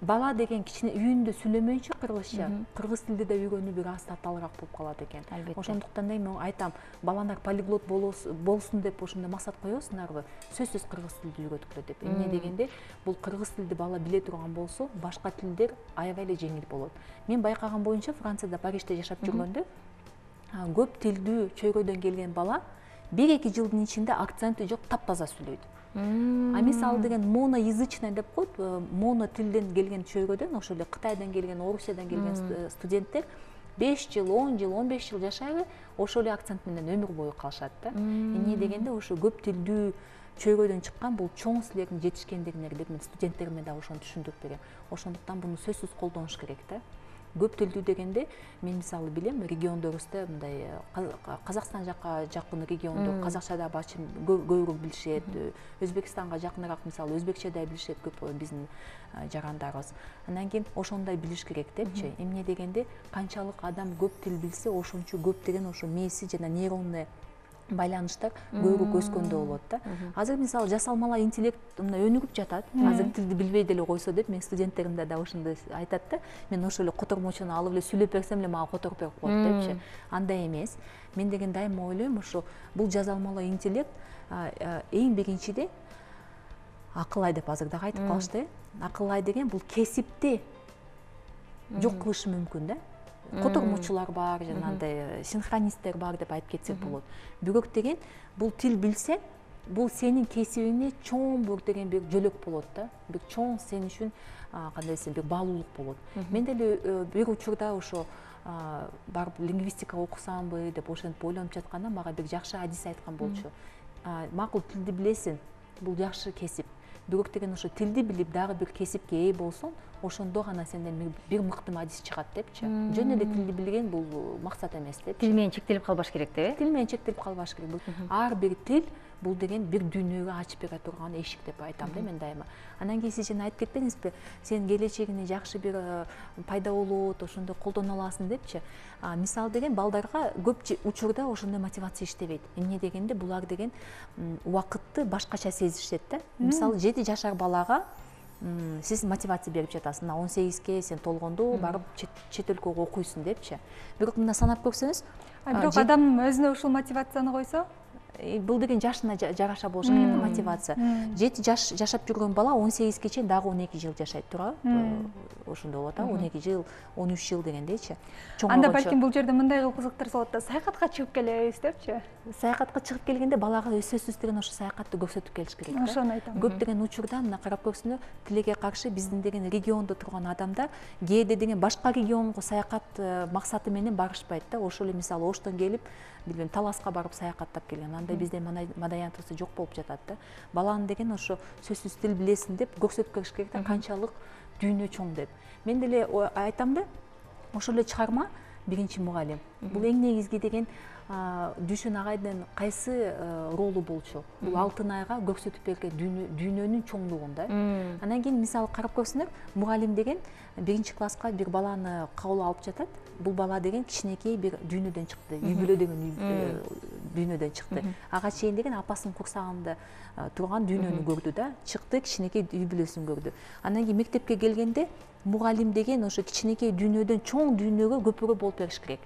бала деген кичине үйүндө сүйлөмөйүнчө кыргызча, кыргыз тилди да үйрөнүү бир аз татаалыраак болуп калат экен. Ошондуктан да мен айтам, балаңар полиглот болсун деп ошондой максат коесуңарбы? Сөзсүз кыргыз тилди үйрөткүлө деп. Эмне дегенде, бул кыргыз тилди бала биле турган болсо, башка тилдер аябай эле жеңил болот. Мен байкаган боюнча, Францияда, Парижде жашап жүргөндө, көп тилдүү чөйрөдөн келген бала бир-эки жылдын ичинде акценти жок, таптаза сүйлөйт. А мисалы деген моноязычный деп коет, моно тилден келген чөйрөдөн, ошол эле Кытайдан келген, Орусиядан келген студенттер беш жыл, он жыл, он беш жыл жашайлы, ошол эле акцент менен өмүр бою калышат да. Эмне дегенде, ошо көп тилдүү чөйрөдөн чыккан бул чоң силердин жетишкендериңер деп мен студенттериме да ошону түшүндүрүп берем. Ошондуктан буну сөзсүз колдонуш керек да. Көп тилдүү дегенде, мен мисалы билем, региондорубузда мындай Казакстан жакка жакын региондор казакча да бачым көбүрөөк билишет, Өзбекстанга жакыныраак мисалы өзбекче да билишет көп биздин жарандарыбыз. Анан кийин ошондой билиш керек депчи. Эмне дегенде, канчалык адам көп тил билсе, ошончо көп деген ошо мээси жана нейронный байланыштар көбүрөөк өскөндө болот да. Азыр мисалы жасалмалар интеллект мына өнүгүп жатат. Азыр тилди билбей деле койсо деп мен студенттеримде да ошондой айтат да. Мен ошол эле котормочуну алып эле сүйлөп берсем эле мага которуп берип коет депчи. Андай эмес. Мен деген дайыма ойлойм, ошо бул жасалмалар интеллект эң биринчиде акыл ай деп азыр дагы айтып калышты. Акыл ай деген бул кесипти жок кылышы мүмкүн да. Котормочулар бар, жанагындай синхронисттер бар деп айтып кетсек болот. Бирок деген бул тил билсең, бул сенин кесибиңе чоң бир деген бир жөлөк болот да. Бир чоң сен үчүн кандай десем, бир баалуулук болот. Мен деле бир учурда ошо барып лингвистика окусамбы деп ошентип ойлонуп жатканда мага бир жакшы адис айткан болчу. Макул тилди билесиң, бул жакшы кесип. Бирок деген ошо тилди билип дагы бир кесипке ээ болсоң, ошондо гана сенден бир мыкты адис чыгат депчи. Жөн эле тилди билген бул максат эмес деп. Тил менен чектелип калбаш керек деп. Тил менен чектелип калбаш керек. Ар бир тил бул деген бир дүйнөгө ачып бере турган эшик деп айтам да мен дайыма. Анан кийин сиз жана айтып кетпедиңизби, сен келечегине жакшы бир пайда болот, ошондой колдоно аласың депчи. Мисалы деген балдарга көп учурда ошондой мотивация иштебейт. Эмне дегенде булар деген убакытты башкача сезишет да. Мисалы жети жашар балага сиз мотивация берип жатасыз. Мына он сегизге сен толгондо барып чет өлкөгө окуйсуң депчи. Бирок мына санап көрсөңүз, бирок адам өзүнө ушул мотивацияны койсо, бул деген жашына жараша болуш керек да мотивация. жети жаш жашап жүргөн бала он сегизге чейин дагы он эки жыл жашайт туурабы? Ошондой болот, он эки жыл, он үч жыл дегендейчи. Анда балким бул жерде мындай кылып кызыктырса болот да, саякатка чыгып келебиз депчи. Саякатка чыгып келгенде балага сөзсүз деген ошо саякатты көрсөтүп келиш керек да. Ошону айтам. Көптөгөн учурда мына карап көрсөңөр, тилекке каршы биздин деген региондо турган адамдар кээде деген башка регионго саякат максаты менен барышпайт да. Ошол эле мисалы Оштон келип, билбейм, Таласка барып саякаттап келген. Андай бизде мадаянтыбызда жок болуп жатат да. Баланы деген ошо сөзсүз тил билесиң деп көрсөтүп келиш керек да, канчалык дүйнө чоң деп. Мен деле айтам да, ошол эле чыгарма биринчи мугалим. Бул эң негизги деген Дүйшөн агайдын кайсы ролу болчу? Бул алтын айга көрсөтүп берген дүйнөнүн чоңдугун да. Анан кийин мисалы карап көрсөңөр, мугалим деген биринчи класска бир баланы кабыл алып жатат. Бул бала деген кичинекей бир дүйнөдөн чыкты, үй бүлө деген дүйнөдөн чыкты. Ага чейин деген апасынын курсагында турган дүйнөнү көрдү да, чыкты, кичинекей үй бүлөсүн көрдү. Анан кийин мектепке келгенде мугалим деген ошо кичинекей дүйнөдөн чоң дүйнөгө көпүрө болуп бериш керек.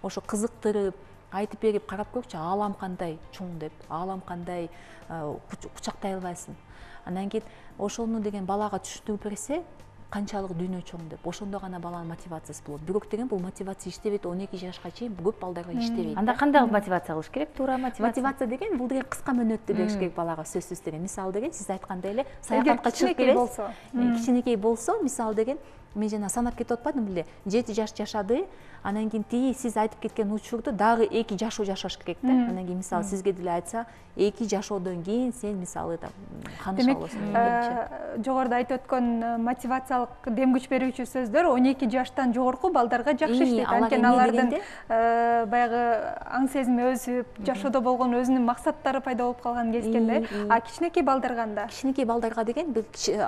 Ошо кызыктырып, айтып берип, карап көрчү, аалам кандай чоң деп, аалам кандай кучактай албайсың. Анан кийин ошону деген балага түшүндүрүп берсе, канчалык дүйнө чоң деп, ошондо гана баланын мотивациясы болот. Бирок деген бул мотивация иштебейт, он эки жашка чейин көп балдарга иштебейт. Анда кандай мотивация кылыш керек? Туура мотивация. Мотивация деген бул деген кыска мөөнөттө бериш керек балага сөзсүз деген. Мисалы деген сиз айткандай эле саякатка чыгып келесиз. Кичинекей болсо, мисалы деген мен жана санап кетип атпадым беле, жети жаш жашады, анан кийин тиги сиз айтып кеткен учурду дагы эки жашоо жашаш керек да. Анан кийин мисалы сизге деле айтса, эки жашоодон кийин сен мисалы ханыша болосуң депчи. Жогоруда айтып өткөн мотивациялык дем күч берүүчү сөздөр он эки жаштан жогорку балдарга жакшы иштейт. Анткени алардын баягы аң сезими өсүп, жашоодо болгон өзүнүн максаттары пайда болуп калган кезгенде, а кичинекей балдарга анда? Кичинекей балдарга деген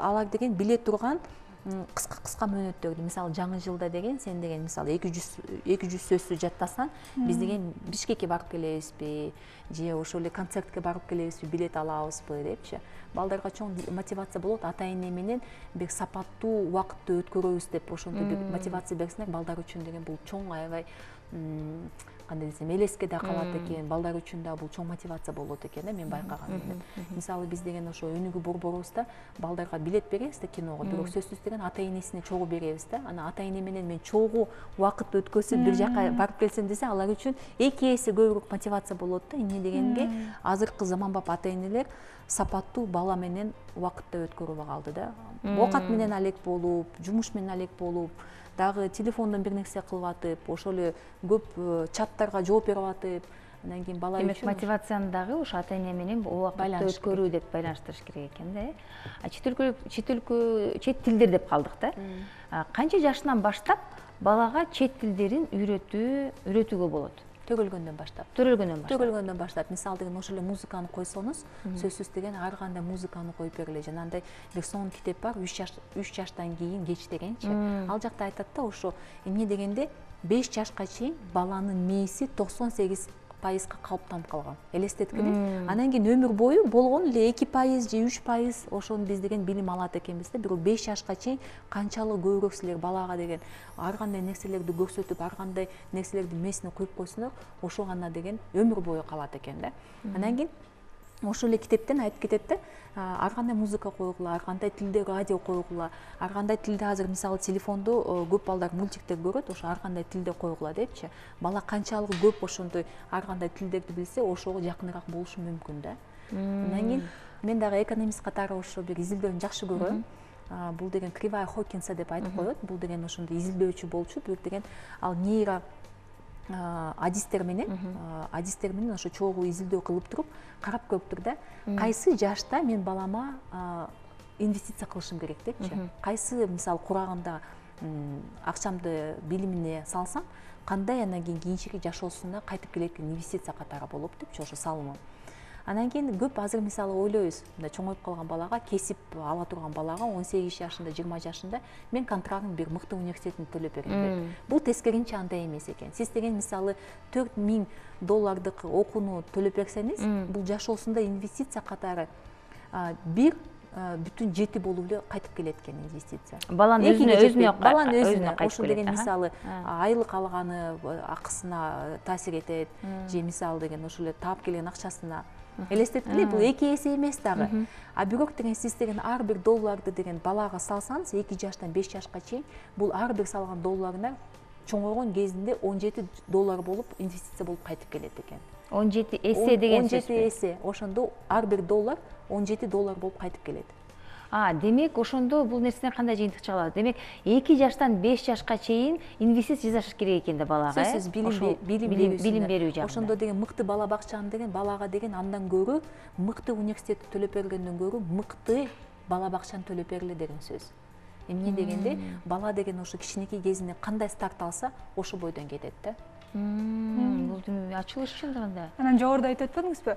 алар деген биле турган кыска-кыска мөөнөттөрдү, мисалы жаңы жылда деген сен деген мисалы эки жүз сөздү жаттасаң, биз деген Бишкекке барып келебизби, же ошол эле концертке барып келебизби, билет алабызбы депчи. Балдарга чоң мотивация болот, ата-эне менен бир сапаттуу убакытты өткөрөбүз деп ошондой бир мотивация берсеңер, балдар үчүн деген бул чоң аябай кандай десем, элеске да калат экен, балдар үчүн да бул чоң мотивация болот экен да, мен байкаган. Мисалы биз деген ошо өнүгүү борборубузда балдарга билет беребиз да киного, бирок сөзсүз деген ата-энесине чогуу беребиз да. Анан ата-эне менен мен чогуу убакыт өткөзүп бир жака барып келсем десе, алар үчүн эки эсе көбүрөөк мотивация болот да. Эмне дегенге, азыркы заманбап ата-энелер сапаттуу бала менен убакытты өткөрүп калды да. Оокат менен алек болуп, жумуш менен алек болуп, дагы телефондон бир нерсе кылып атып, ошол эле көп чаттарга жооп берип атып, анан кийин бала үчүн мотивацияны дагы ошо ата-эне менен убакытты өткөрүү деп байланыштырыш керек экен да. А чет өлкө, чет өлкө, чет тилдер деп калдык да. Канча жашынан баштап балага чет тилдерин үйрөтүү, үйрөтүүгө болот? Төрөлгөндөн баштап. Төрөлгөндөн баштап. Төрөлгөндөн баштап. Мисалы деген ошол эле музыканы койсоңуз, сөзсүз деген ар кандай музыканы коюп бергиле. Жанагындай бир сонун китеп бар, үч жаш, үч жаштан кийин кеч дегенчи. Ал жакта айтат да, ошо эмне дегенде беш жашка чейин баланын мээси токсон сегиз пайызга калыптанып калган. Элестеткиле. Анан кийин өмүр бою болгон эле эки пайыз же үч пайыз ошону биз деген билим алат экенбиз да. Бирок беш жашка чейин канчалык көбүрөөк силер балага деген ар кандай нерселерди көрсөтүп, ар кандай нерселерди мээсине коюп койсоңор, ошо гана деген өмүр бою калат экен да. Анан кийин ошол эле китептен айтып кетет да, ар кандай музыка койгула, ар кандай тилде радио койгула, ар кандай тилде азыр мисалы телефондо көп балдар мультиктер көрөт, ошо ар кандай тилде койгула депчи. Бала канчалык көп ошондой ар кандай тилдерди билсе, ошого жакыныраак болушу мүмкүн да. Андан кийин мен дагы экономист катары ошо бир изилдөөнү жакшы көрөм. Бул деген Кривая Хокинса деп айтып коет. Бул деген ошондой изилдөөчү болчу, бирок деген ал нейро адистер менен адистер менен ошо чогуу изилдөө кылып туруп карап көрүптүр да, кайсы жашта мен балама инвестиция кылышым керек депчи. Кайсы мисалы курагында акчамды билимине салсам, кандай анан кийин кийинчерээк жашоосуна кайтып келет экен инвестиция катары болуп депчи ошо салымым. Анан кийин көп азыр мисалы ойлойбуз, мындай чоңоюп калган балага, кесип ала турган балага он сегиз жашында, жыйырма жашында мен контрактын бир мыкты университетин төлөп берем деп. Бул тескеринче андай эмес экен. Сиз деген мисалы төрт миң доллардык окууну төлөп берсеңиз, бул жашоосунда инвестиция катары бир бүтүн жети болуп эле кайтып келет экен инвестиция. Баланын өзүнө өзүнө баланын өзүнө ошол деген мисалы айлык алганы акысына таасир этет, же мисалы деген ошол эле таап келген акчасына. Элестеткиле, бул эки эсе эмес дагы. А бирок деген сиз деген ар бир долларды деген балага салсаңыз, эки жаштан беш жашка чейин, бул ар бир салган долларына чоңойгон кезинде он жети доллар болуп инвестиция болуп кайтып келет экен. он жети эсе деген сөз. он жети эсе. Ошондо ар бир доллар он жети доллар болуп кайтып келет. А, демек ошондо бул нерседен кандай жыйынтык чыгат? Демек эки жаштан беш жашка чейин инвестиция жасаш керек экен да балага, э? Сөзсүз билим билим берүү жагында. Ошондо деген мыкты бала бакчаны деген балага деген андан көрө мыкты университетти төлөп бергенден көрө мыкты бала бакчаны төлөп бергиле деген сөз. Эмне дегенде бала деген ошо кичинекей кезинде кандай старт алса, ошо бойдон кетет да. Бул ачылыш чындыгында. Анан жогоруда айтып өтпөдүңүзбү?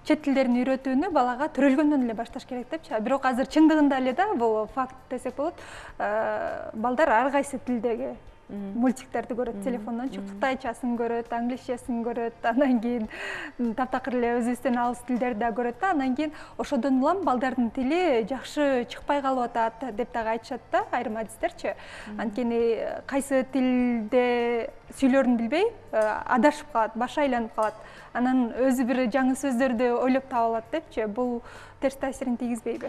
Чет тилдерин үйрөтүүнү балага төрөлгөндөн эле башташ керек депчи. Бирок азыр чындыгында эле да бул факт десек болот. Балдар ар кайсы тилдеги мультиктерди көрөт, телефондон кытайчасын көрөт, англисчесин көрөт, анан кийин таптакыр эле өзүбүздөн алыс тилдерди да көрөт да. Анан кийин ошодон улам балдардын тили жакшы чыкпай калып атат деп дагы айтышат да, айрым адистерчи. Анткени кайсы тилде сүйлөрүн билбей адашып калат, башы айланып калат. Анан өзү бир жаңы сөздөрдү ойлоп таап алат депчи. Бул терс таасирин тийгизбейби?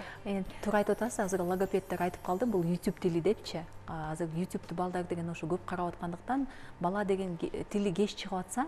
Туура айтып атасыз, азыр логопеддер айтып калды, бул YouTube тили депчи. Азыр YouTube'ду балдар деген ошо көп карап аткандыктан бала деген тили кеч чыгып атса,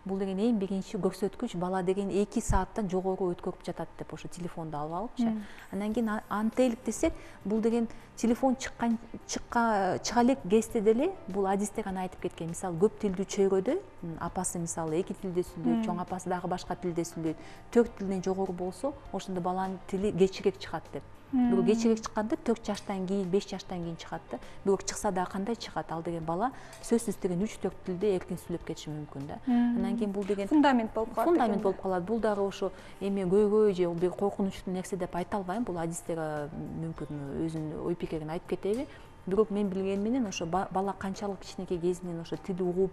бул деген эң биринчи көрсөткүч бала деген эки сааттан жогору өткөрүп жатат деп ошо телефонду алып алыпчы. Анан кийин антелик десек, бул деген телефон чыккан чыкка чыга элек кезде деле бул адистер аны айтып кеткен. Мисалы көп тилдүү чөйрөдө апасы мисалы эки тилде сүйлөйт, чоң апасы дагы башка тилде сүйлөйт. төрт тилден жогору болсо, ошондо баланын тили кечирээк чыгат деп. Бирок кечирээк чыкканда төрт жаштан кийин, беш жаштан кийин чыгат да. Бирок чыкса дагы кандай чыгат? Ал деген бала сөзсүз деген үч төрт тилде эркин сүйлөп кетиши мүмкүн да. Анан кийин бул деген фундамент болуп калат. Фундамент болуп калат. Бул дагы ошо эме көйгөй же бир коркунучтуу нерсе деп айта албайм. Бул адистер мүмкүн өзүнүн ой пикирин айтып кетеби. Бирок мен билгеним менен ошо бала канчалык кичинекей кезинен ошо тил угуп,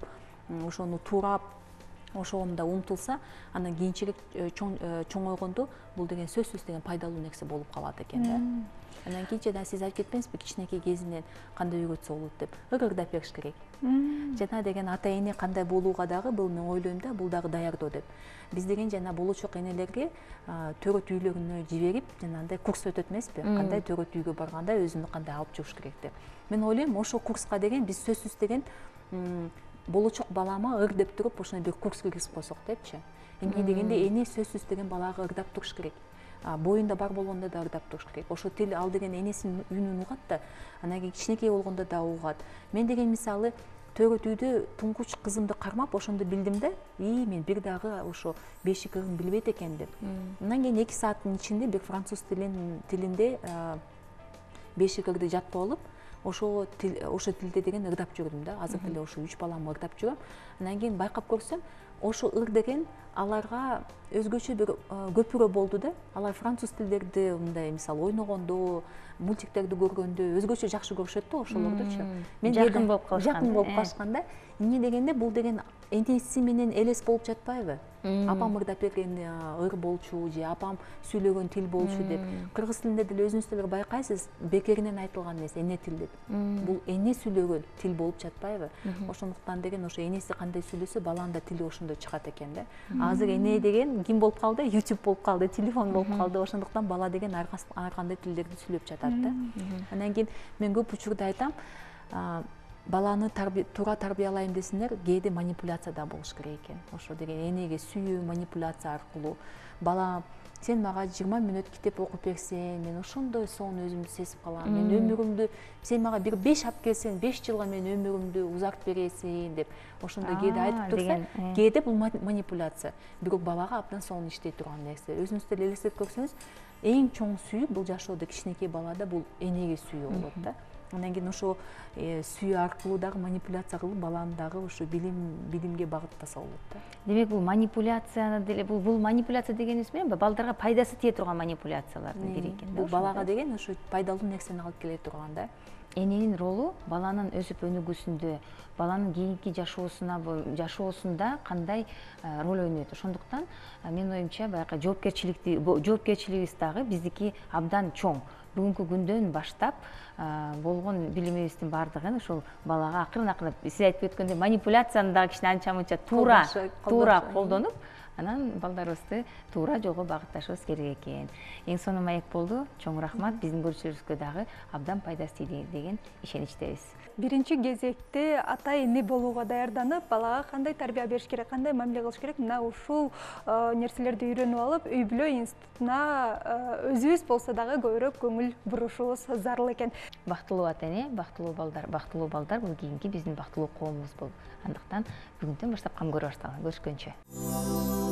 ошону туурап ошондо умтулса, анан кийинчерээк чоңойгондо бул деген сөзсүз деген пайдалуу нерсе болуп калат экен да. Анан кийин жана сиз айтып кетпеңизби, кичинекей кезинен кандай үйрөтсө болот деп. Ыргырдап бериш керек. Жана деген ата эне кандай болууга дагы бул мен ойлойм да, бул дагы даярдоо деп. Биз деген жана болочок энелерге төрөт үйлөрүнө жиберип, жанагындай курс өтөт эмеспи? Кандай төрөт үйгө барганда өзүнү кандай алып жүрүш керек деп. Мен ойлойм, ошо курска деген биз сөзсүз деген болочок балама ыр деп туруп, ошондой бир курс киргизип койсок депчи. Эмне дегенде эне сөзсүз деген балага ырдап туруш керек. Боюнда бар болгондо да ырдап туруш керек. Ошо тил ал деген энесинин үнүн угат да, анан кийин кичинекей болгондо да угат. Мен деген мисалы төрөт үйдө туңгуч кызымды кармап, ошондо билдим да, и мен бир дагы ошо бешик ырын билбейт экен деп. Андан кийин эки сааттын ичинде бир француз тилинде бешик ырды жатып алып, ошо тил ошо тилде деген ырдап жүрдүм да. Азыр деле ошо үч баламды ырдап жүрөм. Андан кийин байкап көрсөм, ошо ыр деген аларга өзгөчө бир көпүрө болду да. Алар француз тилдерди мындай мисалы ойногондо, мультиктерди көргөндө өзгөчө жакшы көрүшөт да ошолордучу. Мен жакын болуп калышкан. Жакын болуп калышканда, эмне дегенде бул деген энеси менен элес болуп жатпайбы? Апам ырдап берген ыр болчу же апам сүйлөгөн тил болчу деп. Кыргыз тилинде деле өзүңүз деле байкайсыз, бекеринен айтылган эмес, эне тил деп. Бул эне сүйлөгөн тил болуп жатпайбы? Ошондуктан деген ошо энеси кандай сүйлөсө, баланын да тили ошондой чыгат экен да. Азыр эне деген ким болуп калды? YouTube болуп калды, телефон болуп калды. Ошондуктан бала деген ар кандай тилдерди сүйлөп жатат да. Анан кийин мен көп учурда айтам, баланы туура тарбиялайм десеңер, кээде манипуляция да болуш керек экен. Ошо деген энеге сүйүү манипуляция аркылуу бала сен мага жыйырма мүнөт китеп окуп берсең, мен ошондой сонун өзүмдү сезип калам. Мен өмүрүмдү сен мага бир беш алып келсең, беш жылга мен өмүрүмдү узартып бересиң деп. Ошондой кээде айтып турса, кээде бул манипуляция. Бирок балага абдан сонун иштей турган нерсе. Өзүңүз деле элестетип көрсөңүз, эң чоң сүйүү бул жашоодо кичинекей балада бул энеге сүйүү болот да. Андан кийин ошо сүйүү аркылуу дагы манипуляция кылып баланы дагы ошо билим билимге багыттаса болот да. Демек бул манипуляцияны деле бул бул манипуляция дегенибиз менен балдарга пайдасы тие турган манипуляциялардын бири экен да. Бул балага деген ошо пайдалуу нерсени алып келе турган да. Эненин ролу баланын өсүп өнүгүүсүндө, баланын кийинки жашоосуна жашоосунда кандай роль ойнойт. Ошондуктан менин оюмча баягы жоопкерчиликти жоопкерчилигибиз дагы биздики абдан чоң. Бүгүнкү күндөн баштап болгон билимибиздин баардыгын ошол балага акырын акырын сиз айтып өткөндөй манипуляцияны дагы кичине анча мынча туура туура колдонуп, анан балдарыбызды туура жолго багытташыбыз керек экен. Эң сонун маек болду. Чоң рахмат. Биздин көрүүчүлөрүбүзгө дагы абдан пайдасы тийди деген ишеничтебиз. Биринчи кезекте ата эне болууга даярданып, балага кандай тарбия бериш керек, кандай мамиле кылыш керек, мына ушул нерселерди үйрөнүп алып, үй бүлө институтуна өзүбүз болсо дагы көбүрөөк көңүл бурушубуз зарыл экен. Бактылуу ата эне, бактылуу балдар, бактылуу балдар бул кийинки биздин бактылуу коомубуз болду. Андыктан бүгүндөн баштап кам көрө баштагыла. Көрүшкөнчө.